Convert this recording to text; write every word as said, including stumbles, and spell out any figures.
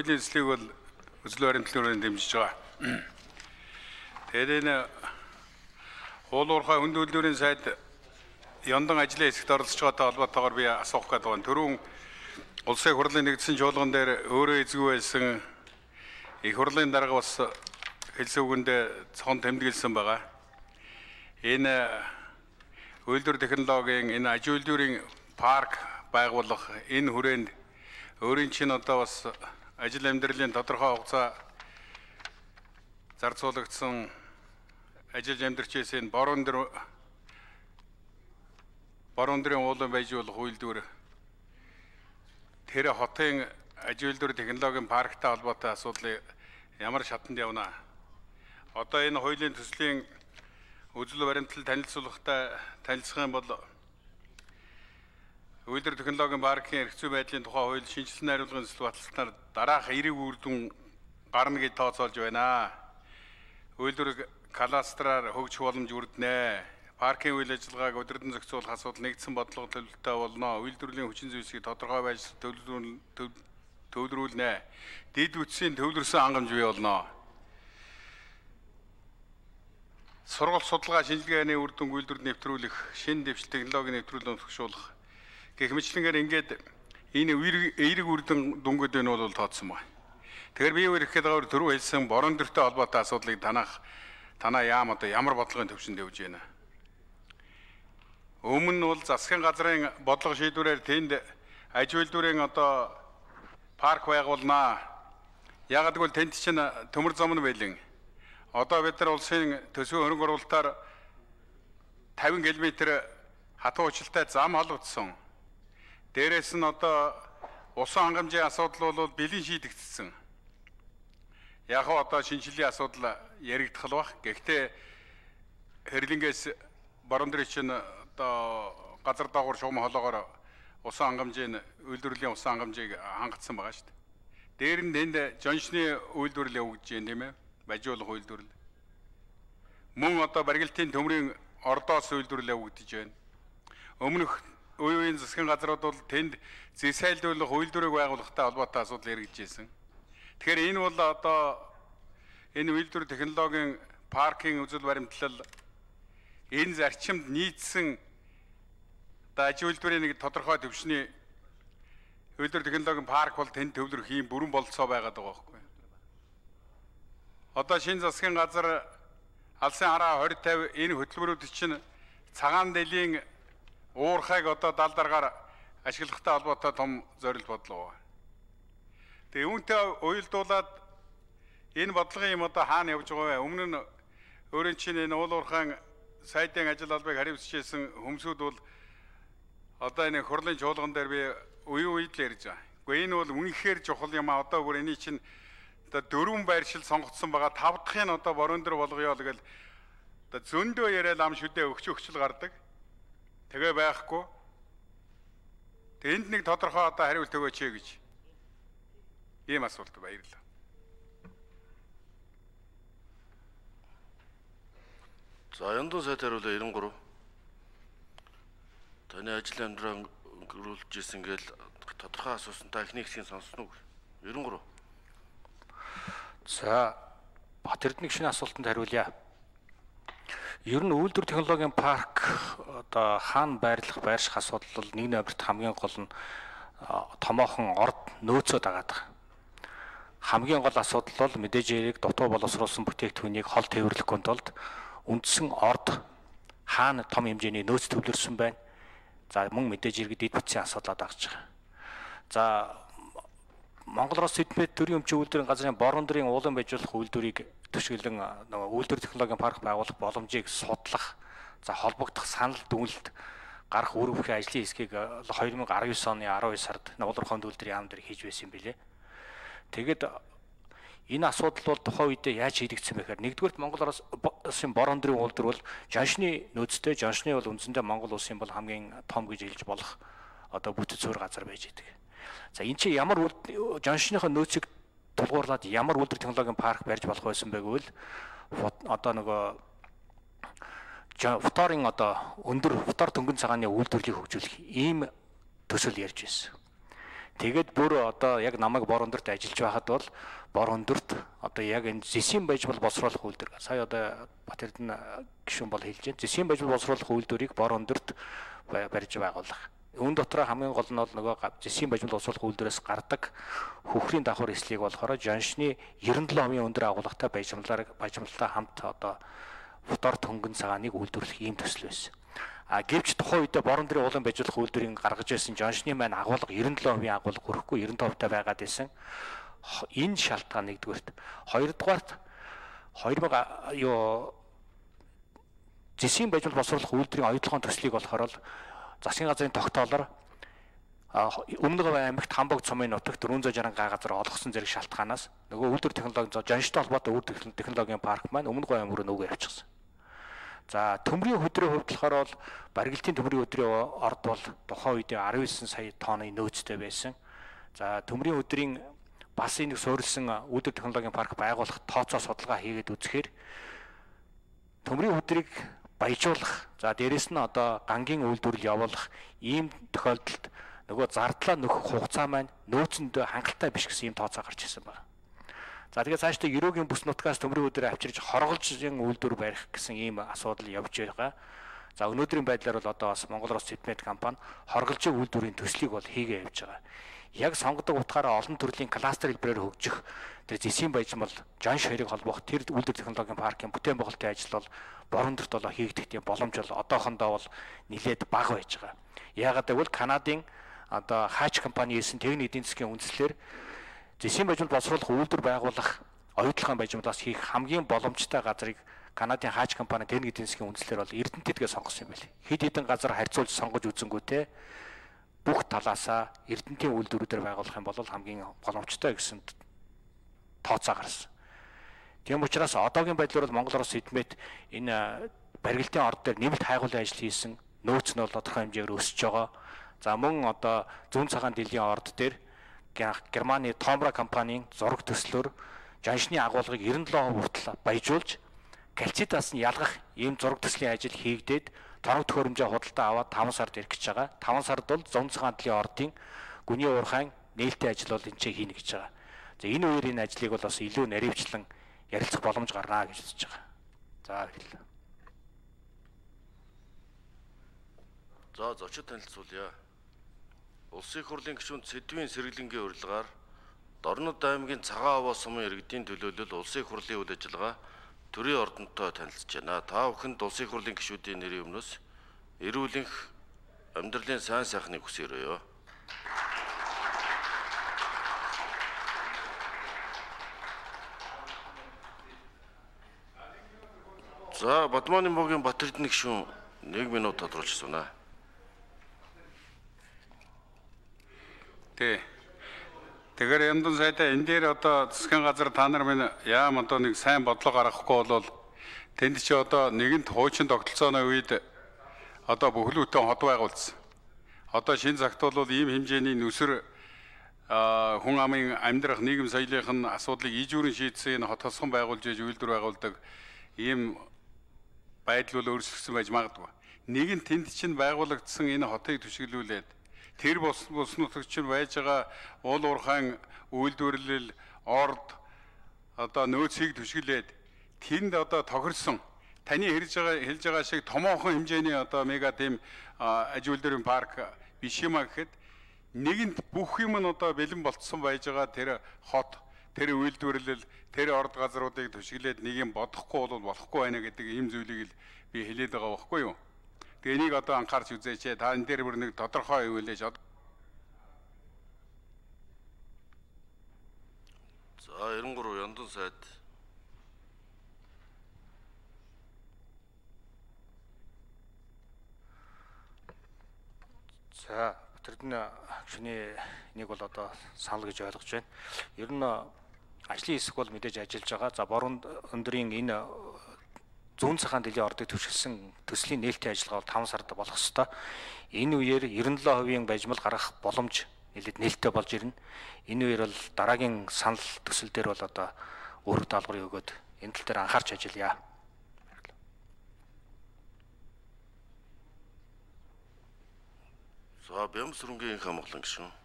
хуулийн эслийг бол өсөлт баримтлалын дэмжиж байгаа. Тэгээд энэ хуулуурхай хүнд үйлдвэрийн сайд яндан ажлын хэсэгт оролцож байгаатай холбоотойгоор би асуух гэдэг байна. Түрүүн улсын хурлын нэгдсэн чуулган дээр өөрөө эзгүй байсан их хурлын дарга бас хэлсэн үгэндээ цохон тэмдэглэсэн байгаа. Энэ үйлдвэр технологийн энэ аж үйлдвэрийн парк байгуулах энэ хүрээнд өөрийн чинь одоо бас ажил амьдралын тодорхой хугацаа зарцуулагдсан ажил амьдарч ирсэн борон дөр борон дэрийн уулан байж болох үйлдвэр тэр хотын аж үйлдвэр технологийн парктай холбоотой асуудлыг ямар шатанд явна. Одоо энэ хуулийн төслийн үзэл баримтлал танилцуулгатай танилцах юм бол үйлдвэр технологийн паркийн эрх зүй байдлын тухай хууль шинжилсэн найруулгын зөвлөлт баталснаар дараах эерэг үр дүн гарна гэж тооцоолж байна. Үйлдвэр кластераар хөгжих боломж үрдэнэ. Паркийн үйл ажиллагааг өдөрдөн зохицуулах асуудал нэгдсэн бодлого төлөвлөлтөй болно. Үйлдвэрлэлийн хүчин зүйлсийг тодорхой байж төвлөрүүлнэ. Дэд үтсийн төвлөрсөн хангамж бий болно. Сургалт судалгаа шинжилгээний үр дүнг үйлдвэрт нэвтрүүлэх, шинэ дэвшил технологийн нэвтрүүлэлд төгшүүлэх гэх мэтлэнгээр ингээд энэ эерэг үр дүнгууд энэ бол тооцсон байна. Тэгэхээр би өөр их гэдэг түрүү хэлсэн борон дөртэй холбоотой асуудлыг танах танаа яам одоо ямар бодлогын төвшөнд явж байна. Өмнө нь бол засгийн газрын бодлого шийдвэрээр тэнд аж үйлдвэрийн одоо парк байгуулнаа. Яг гэвэл тэнд чинь төмөр зам нь байлин. Одоо бид нар улсын төсвийн хөрөнгө оруулалтаар тавин километр хатуу уучлалтай зам холбогдсон. Дээрээс нь одоо усан хангамжийн асуудал бол бэлэн шийдэгдсэн. Яг нь одоо шинжилгээ асуудал яригдах л бах. Гэхдээ хэрлэнгээс борон дэрийн чинь одоо газар доогуур шугам холоогоор усан хангамжийн үйлдвэрлэлийн усан хангамжийг хангацсан байгаа шүү дээ. Дээр нь тэнд жоншны үйлдвэрлэл явагдаж байна тийм ээ. Бажиулах үйлдвэрлэл. Мөн одоо барилтын төмрийн ордоос үйлдвэрлэл явагдаж байна. Өмнөх үеийн засгийн газрууд бол тэнд зэсайлдуулах үйлдвэрийг байгуулахтай холбоотой асуудал яригдж байсан. Тэгэхээр энэ бол одоо энэ үйлдвэр технологийн паркийн үзэл баримтлал энэ зарчимд нийцсэн аж үйлдвэрийн нэг тодорхой төвшний үйлдвэр технологийн парк бол тэнд төвлөрөх юм бүрэн болцоо байгаад байгаа байхгүй. Одоо шинэ засгийн газар алсын хараа двадцать пятьдесят энэ хөтөлбөрүүд чинь цагаан дэлхийн уурхайг одоо дал даргаар ашиглахтай холбоотой том зорилт бодлого. Тэгээ үүнтэй уялдуулаад энэ бодлогын юм одоо хаана явж байгаа вэ? Өмнө нь өөрийн чинь энэ уул уурхайн сайдын ажил албыг хариуцчихсэн хүмүүсүүд бол одоо энэ хурлын чуулган дээр би үе үед л ярьж байгаа. Гэхдээ энэ бол үнэхээр чухал юм а. Одоо бүр энэ чинь одоо дөрвөн байршил сонгогдсон байгаа. Тав дахь нь одоо борон дээр болгоё л гэл одоо зөндөө яриад ам шүдэ өгч өгчл гардаг. Тэгээ байхгүй. Тэнд нэг тодорхой одоо хариулт өгөөч гэж ийм асуулт баярлалаа. За яндан сайд хариулаа девяносто три. Таны ажил амьдрал өнгөрүүлж ирсэн гээл тодорхой асуусантай эхний хэсгийг сонссон уу? девяносто три. За Бат Эрдэнэ гишүүний асуултанд хариулъя. Ер нь үйлдвэр технологийн парк одоо хаана байрлах байрших асуудал бол нэг номерт хамгийн гол нь томоохон орд нөөцөө дагаад байгаа. Хамгийн гол асуудал бол мэдээж хэрэг дутуу боловсруулсан бүтээгдэхүүнийг хол тээвэрлэхгүй тулд үндсэн орд хаана том хэмжээний нөөц төвлөрсөн байна. За мөн мэдээж хэрэг дэд бүтцийн асуудал агж байгаа. За Монгол Улс эдмэд төрийн өмчийн үйлдвэрийн газрын борон дэрийн уулан байжуулах үйлдвэрийг төшөглөн нөгөө үйлдвэр технологийн парк байгуулах боломжийг судлах, за холбогдох санал дүгнэлт гарах үр бүхий ажлын хэсгийг две тысячи десять оны twelve сард Нуулуурхайн үйлдвэрийн яам дээр хийж байсан юм билээ. Тэгэд энэ асуудал бол тухайн үедээ яаж шийдэгдсэн бэ гэхээр нэгдүгээрт Монгол Улсын борон дэрийн үйлдвэр бол жоншны нөөцтэй, жоншны бол үндсэндээ Монгол Улсын бол хамгийн том гэж хэлж болох одоо бүтэц суурь газар байж идэг. За энэ чи ямар жоншныхоо нөөцийг тулгуурлаад ямар үйлдвэр технологийн парк барьж болох байсан бэ гэвэл одоо нөгөө фторын одоо өндөр фтор дөнгөн цагааны үйлдвэрлэлийг хөгжүүлэх ийм төсөл ярьж байсан. Тэгээд бүр одоо яг намайг бор өндөрт ажиллаж байхад бол бор өндөрт одоо яг энэ зэсийн бажбал босруулах үйлдвэр. Сая одоо Батэрдэн гишүүн бол хэлж байна. Зэсийн бажбал босруулах үйлдвэрийг бор өндөрт барьж байгуулах. Үүн дотор хамгийн гол нь бол нөгөө зэсийн бажбал босруулах үйлдвэрээс гардаг хөхрийн давхар эслийг болохоор Жаншны девяносто семь хувийн өндөр агуулгатай бажимлаар бажимлалтай хамт одоо футор төнгөн цагааныг үйлдвэрлэх ийм төсөл байсан. А гэвч тухайн үедээ бор өндрийн уулын бажуулах үйлдвэрийг гаргаж байсан Жаншны маань агуулга девяносто семь хувийн агуулга хүрэхгүй девяносто хувьтай байгаад байсан. Энэ шалтгаан нэгдүгээрт. Хоёрдугаарт хоёр мянга юу зэсийн бажил босруулах үйлдвэрийн оюутлогын төслийг болохоор л засгийн газрын тогтоолоор Өмнөд Говь аймагт Хамбог цумын нутагт дөрвөн зуун шаран га газар олгосон зэрэг шалтгаанаас нөгөө үйлдвэр технологи Жанштай холбоотой үйлдвэр технологийн парк маань Өмнөд Говь аймаг руу нөгөө явчихсан. За төмрийн хөдрийн хувьд болохоор бол барилтын төмрийн хөдрийн орд бол тухайн үед арван девять сая тонны нөөцтэй байсан. За төмрийн хөдрийн бас нэг суурилсан үйлдвэр технологийн парк байгуулах тооцоо судалгаа хийгээд үзэхээр төмрийн хөдрийг баяжуулах, за дээрэс нь одоо гангийн үйлдвэрлэл явуулах ийм тохиолдолд нөгөө зардлаа нөхөх хугацаа маань нөөцөнд хангалттай биш гэсэн ийм тооцоо гарч ирсэн байна. За тэгээд цаашдаа Ерөөгийн бүс нутгаас төмрийн хөдрийг авчирж хорголжийн үйлдвэр барих гэсэн ийм асуудал явж байгаа. За өнөөдрийн байдлаар бол одоо бас Монгол Рос Цемент компани хорголжийн үйлдвэрийн төслийг бол хийгээ явж байгаа. Яг сонгодог утгаараа олон төрлийн кластер хэлбэрээр хөгжих тэр зэсийн баяжмал Жанш хоёрыг холбоох тэр үйлдвэр технологийн паркийн бүтээн байгуулалтын ажил бол бор өндөрт бол хийгдэх тийм боломж бол одоохондоо бол нэлээд бага байж байгаа. Яагаад гэвэл Канадын одоо Хаач компани хийсэн техник эдийн засгийн үндэслэлээр зэсийн бажмал боловсруулах үйлдвэр байгуулах оюутлогын бажмалаас хийх хамгийн боломжтой газрыг Канадын Хаач компани техник эдийн засгийн үндэслэлээр бол Эрдэнэтгээ сонгосон юм байна. Хэд хэдэн газар харьцуулж сонгож үзэнгүүтээ бүх талаасаа Эрдэнэтийн үйлдвэрүүдээр байгуулах юм бол хамгийн боломжтой гэсэн тооцоо гарсан. Тийм учраас одоогийн байдлаар бол Монгол Рос Цемент энэ барилтын орд дээр нэмэлт хайгуулын ажил хийсэн, нөөц нь бол тодорхой хэмжээгээр өсөж байгаа. За мөн одоо зүүн цагаан дэлхийн орд дээр Германы Томра компанийн зураг төслөөр Жаншны агуулгыг девяносто семь хүртэл баяжуулж кальцитаас нь ялгах ийм зураг төслийн ажил хийгдээд торог төхөөрөмжөө худалдаа аваад таван сард ирэх гэж байгаа. таван сард бол зүүн цагаан дэлхийн ордын гүний уурхайн нээлттэй ажил бол энэ ч хийнэ гэж байгаа. За энэ үеэр энэ ажлыг бол бас илүү наривчлан ярилцах боломж гарнаа гэж үзэж байгаа. За хэлээ. За зочид танилцуулъя. Улсын их хурлын гишүүн Сэдвийн Сэргэлэнгийн урилгаар Дорнод аймгийн Цагаан Овоо сумын иргэдийн төлөөлөл улсын их хурлын үйл ажиллагаа төрийн ордонтой танилцж байна. Та бүхэнд улсын их хурлын гишүүдийн нэрийн өмнөөс эрүүл энх амьдралын сайн сайхныг хүсээрэй. За Бадманы могийн Батэрдэн гишүүн нэг минут тодруулж сунаа. Тэ. Тэгэхээр Яндан сайдаа энэ дээр одоо засгийн газар та нар минь яам одоо нэг сайн бодлого гаргахгүй бол тэнд чи одоо нэгэнт хуучин тогтолцооны үед одоо бүхлүүтэн хот байгуулсан. Одоо шинэ цагт бол ийм хэмжээний нүсэр хүн амын амьдрах нийгэм соёлын асуудлыг ижүүрэн шийдсэн хот тосгон байгуулж иж үйлдвэр байгуулдаг ийм байдал бол өөрчлөгдсөн байж магадгүй. Нэгэн тэнд чинь байгуулагдсан энэ хотыг түшиглүүлээд тэр бус бус нутагт чинь байж байгаа уул уурхайн үйлдвэрлэл орд одоо нөөцийг түшиглээд тэнд одоо тохирсон таны хэлж байгаа хэлж байгаа шиг томоохон хэмжээний одоо мега тим аж үйлдвэрийн парк биш юм а гэхэд нэгэнт бүх юм нь одоо бэлэн болцсон байж байгаа тэр хот тэр үйлдвэрлэл тэр орд газруудыг түшиглээд нэг юм бодохгүй бол болохгүй байна гэдэг ийм зүйлийг л би хэлээд байгаа байхгүй юу. Тэгээ энийг одоо анхаарч үзээч. Та энэ дээр бүр нэг тодорхой өгүүлээч. За девяносто три Яндан сайд. За Батэрдэн гишүүний нэг бол одоо санал гэж ойлгож байна. Ер нь ажлын хэсэг бол мэдээж ажиллаж байгаа. За бор өндрийн энэ зүүн цагаан дэлхийн ордыг түшгэлсэн төслийн нээлттэй ажиллагаа бол таван сард болох ёстой. Энэ үеэр девяносто семь хувийн бажмал гаргах боломж нэлээд нээлттэй болж ирнэ. Энэ үеэр бол дараагийн санал төсөл дээр бол одоо өөрөг даалгаврыг өгөөд энэ тал дээр анхаарч ажиллая. За Бямс сүрэнгийн хамгаалан гишүүн.